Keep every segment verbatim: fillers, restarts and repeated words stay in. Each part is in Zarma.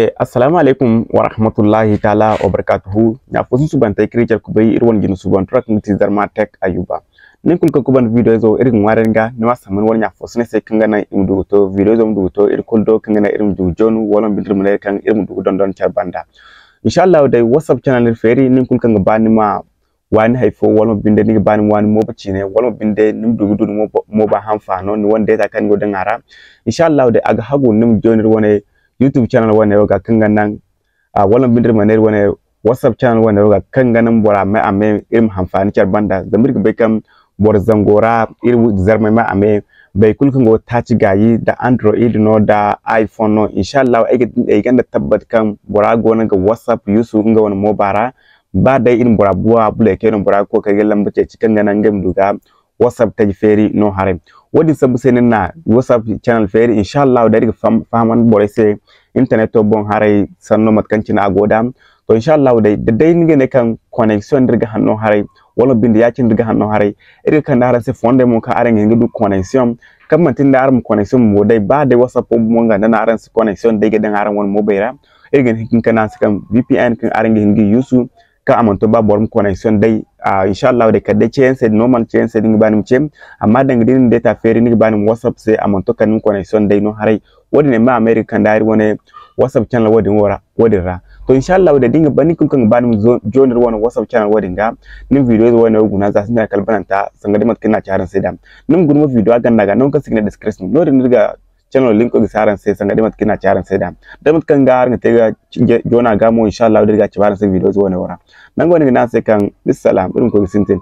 Eh, assalamu alaikum wa rahmatullahi ta'ala wa barakatuhu. Ɲa fo susubantey kaŋ iri care kubay, iri wane jine subantu ra kaŋ ga ti Zarma Tech Ayuba. Nin kulu kaŋ ga ban video izo, iri ga ŋwaaray ni ga, ni ma sambu ni wane ɲa fo sine se kaŋ ga naŋ i ma du ga to, video izo ma du ga to iri kulu do, kaŋ ga naŋ iri ma du ga joonu, wala ma binde iri ma ne kaŋ iri ma du ga dondon care banda. Insha Allah day, WhatsApp channel iri feeri, nin kulu kaŋ ga ba ni ma waani hay fo, wala mo binde ni ga ba ni ma waani mooba ciine, wala mo binde ni ma du ga du ni mooba, mooba hanfaano, ni wane deeta kaŋ ni go ga daŋ a ra. Insha Allah day, a ga hagu ni ma jooni iri wane YouTube channel wane wo ga kaŋ ga naŋ, a, wala mo binde iri ma ne iri wane WhatsApp channel wane wo ga kaŋ ga naŋ bora ma a me iri ma hanfaani care banda. Zama iri ga bay kaŋ boro zango ra iri zarmey ma a me, boro kulu kaŋ go ga taaci gaayi, da Android no, da iPhone no. Insha Allah ay ga, ay gonda tabbat kaŋ bora goono ga WhatsApp use nga wane mooba ra. Ba day iri ma bora buwa bulay kay no, bora ga kookari ga lamba ceeci kaŋ ga naŋ ngey ma du ga WhatsApp taji feeri no haray. Wo-din sambu se no iri na WhatsApp channel feeri, insha Allah day iri ga faham-, fahamandi borey se interneto boŋ haray sanno mate kaŋ cine a go da. To, insha Allah day, da day ni ga ne kaŋ connexion da iri ga hanno haray, wala binde ya-cine da iri ga hanno haray, iri ga kande araŋ se fondey mo kaŋ araŋ ga hin ga du connexion, kaŋ manti nda araŋ ma connexion mo day, ba day WhatsApp mo nga nda no araŋ si connexion day ga daŋ araŋ wane moobay ra, iri ga hin ga kande araŋ se kaŋ V P N kaŋ araŋ ga hin ga use, kaŋ a mana to ba boro ma connexion day. Ah, insha Allah day kala day ceeyaŋ se, normal ceeyaŋ se da ni ga ba ni ma ce, amma danga da ni na deeta feeri ni ga ba ni ma WhatsApp se, a mana to kala ni ma connexion day no haray. Wo-din ay ma a mayray ga kande iri wane WhatsApp channel wo-din wo ra, wo-din ra. To, insha Allah day da ni ga ba, nin kulu kaŋ ga ba ni ma zo-, jooni iri wane WhatsApp channel wo-din ga, ni ma video ize wo-ne wo guna za sintina kala bananta, sanga day mate kaŋ iri na a ci araŋ se da. Ni ma guna mo video a ganda ga, nangu kaŋ se i ga ne description. No-din no iri ga channel linko ga si araŋ se, sanga day mate kaŋ iri na a ci araŋ se da. Day mate kaŋ ga araŋ ga te ga joona ga mo, insha Allah day iri ga a cabe araŋ se video ize wo-ne wo ra. Nango no iri ga ne araŋ se kaŋ, bissalam, iri ma koy ga sintin.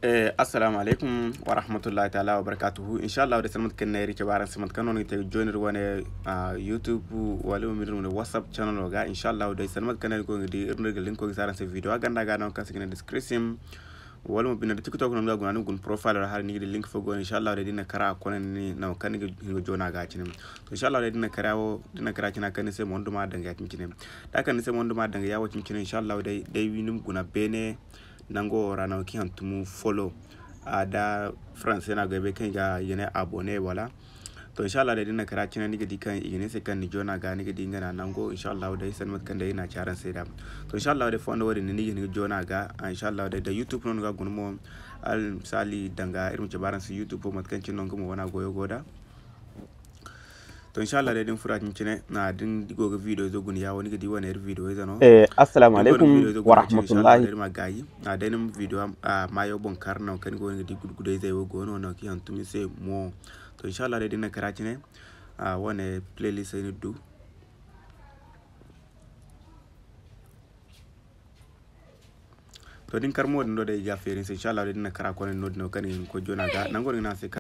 Eh, assalamu alaikum wa rahmatullahi ta'ala wa barakatuhu. Insha Allah day, sanda mate kaŋ ne iri cabe araŋ se mate kaŋ no ni ga te ga jooni iri wane, ah, YouTube wala mo iri wane WhatsApp channel ga. Insha Allah day, sanda mate kaŋ ne iri go ga di, iri no iri ga linko ga si araŋ se video a ganda ga, nangu kaŋ se i ga ne description. Wala mo binde da TikTok no ni ga guna, ni ga guna profile ra haray ni ga di link fo go no, insha Allah day da ni na kara a kone ni nangu kaŋ ni ga hin ga joona ga cine. To, insha Allah day da ni na kara wo, da ni na kara cine a kande ni se mo ni duma daŋ ga ya cine cine. Da a kande ni se mo ni duma daŋ ga ya wo cine cine, insha Allah day, day ni ma guna beene nango wo ra nangu kaŋ i hantum follow. A da français no a go ay bay kaŋ i ga, i ga ne abonné wala. To, insha Allah day da ni na kara cine ni ga di kaŋ i ga ne ni se kaŋ ni joona ga, ni ga di nga na nango, insha Allah day sanda mate kaŋ day iri na a ci araŋ se da. To, insha Allah day fondo wo-din ni ga hin ga joona ga, ah, insha Allah day da YouTube no ni ga guna mo. Almisaali danga iri ma cabe araŋ se YouTube mate kaŋ cine no nga mo wana goyo go da. To, insha Allah day da ni furo a cine cine, na da ni go ga video izo guna ya wo ni ga di wane iri video ize no. Eh, assalamu alaikum wa rahmatullahi. Iri ma gaayi, a day ni ma video, ah, maayo boŋ kar nangu kaŋ ni go ni ga di gudu gudu izey wo go no nangu kaŋ i hantum ni se mo. To, insha Allah day da ni na kara cine, ah, wane playlist ay ni du. To, da ni kar mo din do day i ga feeri ni se, insha Allah day da ni na kara kone no din no kaŋ ni ga hin ga koy joona ga nango no ni ga ne a se kaŋ